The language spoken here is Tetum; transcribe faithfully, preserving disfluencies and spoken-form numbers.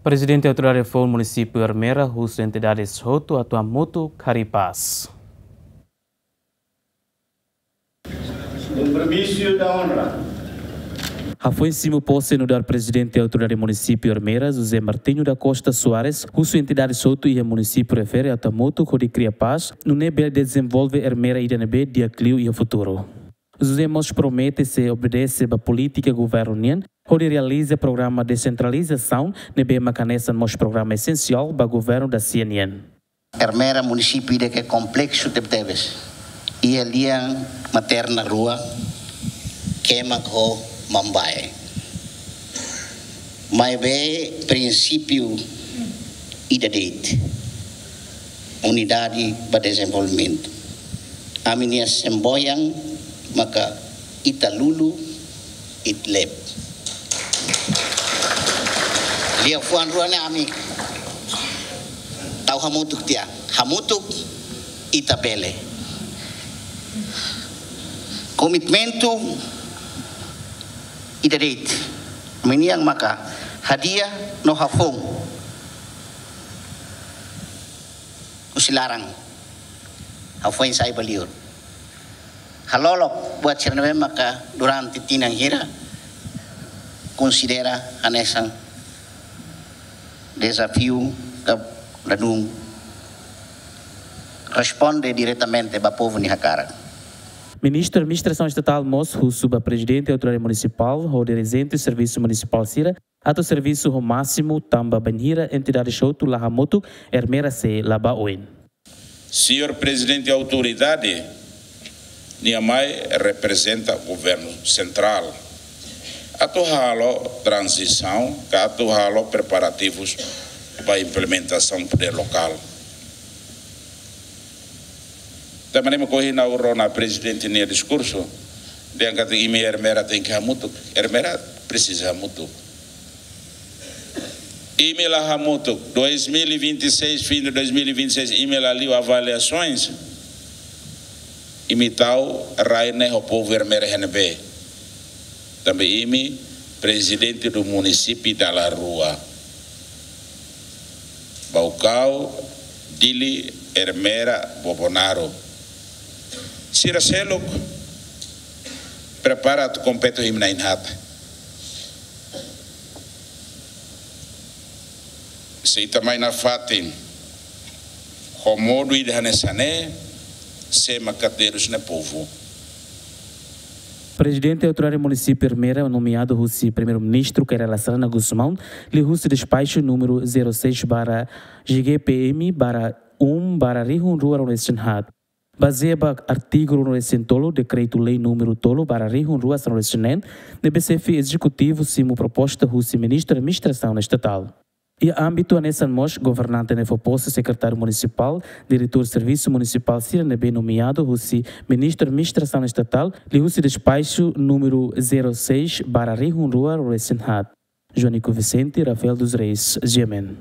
Prezidente Autoridade Foun Munisípiu Ermera husu entidades hotu atu hamutuk hari'i pás. Compromisso da honra. Hafoin simu pose nu'udar Prezidente Autoridade Munisípiu Ermera, José Martinho da Costa Soares, husu entidades hotu iha munisípiu refere atu hamutuk hodi kria pás, nune'e bele dezenvolve Ermera ida ne'ebé di'ak liu iha futuru. José mós promete sei obedese ba polítika governu nian, hodi realiza programa desentralizasaun ne'ebé maka hanesan mós programa esensiál ba governu dasia nian. Ermera munisípiu ida ke kompleksu tebetebes. Iha lian materna rua, Kemak ho Mambae. Maibé prinsípiu ida de'it. Unidade ba dezenvolvimentu. Ami-nia semboyan maka ita lulu, ita lebe. Liafuan rua ne'e ami tau hamutuk tiha. Hamutuk ita bele. Komitmentu ida de'it. Ami-nian maka hadi'a no hafoun husi laran. Hafoin sai ba liur. Halolok buat sira ne'ebé maka durante tinan hira konsidera hanesan dezafiu ka ladún responde diretamente ba povu nia hakarak. Ministru Administrasaun Estatál mós husu ba Prezidente Autoridade Munisipál ho dirijente servisu munisipál sira atu servisu ho másimu tanba bainhira entidades hotu la hamutuk, Ermera sei la ba oin. Señór Prezidente Autoridade, nia mai reprezenta governu sentrál atu halo tranzisaun ka atu halo preparativus ba implementasaun podér lokál. Tanba ne'e mak ohin ha'u rona Prezidente nia diskursu, dehan katak imi Ermera tenke hamutuk. Ermera presiza hamutuk. Imi la hamutuk, dois mil e vinte e seis, fim de dois mil e vinte e seis, imi la liu avaliasoens. Imi tau rai ne'e ho povu Ermera iha ne'ebé. Tanba imi prezidente do munisípiu dala rua. Baucau, Dili, Ermera, Bobonaro. Sira seluk prepara atu kompete ho imi na'in-haat. Se ita mai nafatin ho modu ida hanesan ne'e, sé maka terus ne'e povu. Prezidente Autoridade Munisípiu Ermera nomeadu husi Primeiru-Ministru Kay Rala Xanana Gusmão, liuhusi despaxu númeru zero seis barra G G P M barra um barra rihun rua ruanulu-resin-haat. Bazeia ba artigu ruanulu-resin-tolu Dekretu-Lei númeru tolu barra rihun rua sanulu-resin-neen, ne'ebé xefe ezekutivu simu proposta husi Ministru Administrasaun Estatál. Iha ámbitu hanesan mós governante ne'e fó pose Sekretáriu Munisipál, Diretór Servisu Munisipál sira ne'ebé nomeadu husi Ministru Administrasaun Estatál, liuhusi despaxu númeru zero seis barra rihun rua ruanulu-resin-haat. Joanico Vicente, Rafael dos Reis, G M N.